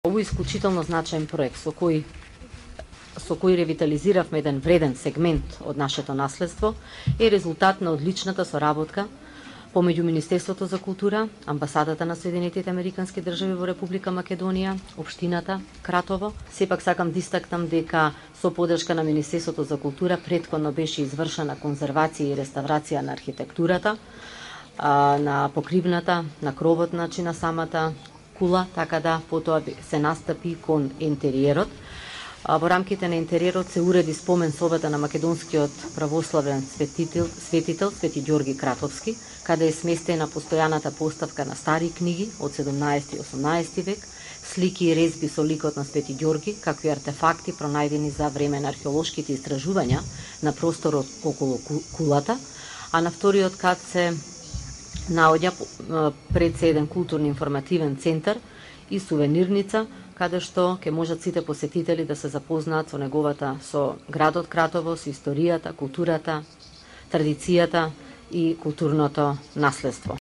Овој исклучително значаен проект со кој ревитализиравме еден вреден сегмент од нашето наследство е резултат на одличната соработка помеѓу Министерството за култура, Амбасадата на Соединетите Американски држави во Република Македонија, општината Кратово. Сепак сакам да истакнам дека со поддршка на Министерството за култура претходно беше извршена конзервација и реставрација на архитектурата, на покривната, на кровот на самата кула, така да потоа се настапи кон интериерот. Во рамките на интериерот се уреди спомен собата на македонскиот православен светител Свети Ѓорги Кратовски, каде е сместена постојаната поставка на стари книги од 17 и 18 век, слики и резби со ликот на Свети Ѓорги, какви артефакти пронајдени за време на археолошките истражувања на просторот околу кулата, а на вториот кат се наоѓа пред се еден културно-информативен центар и сувенирница, каде што ќе можат сите посетители да се запознаат со градот Кратово, со историјата, културата, традицијата и културното наследство.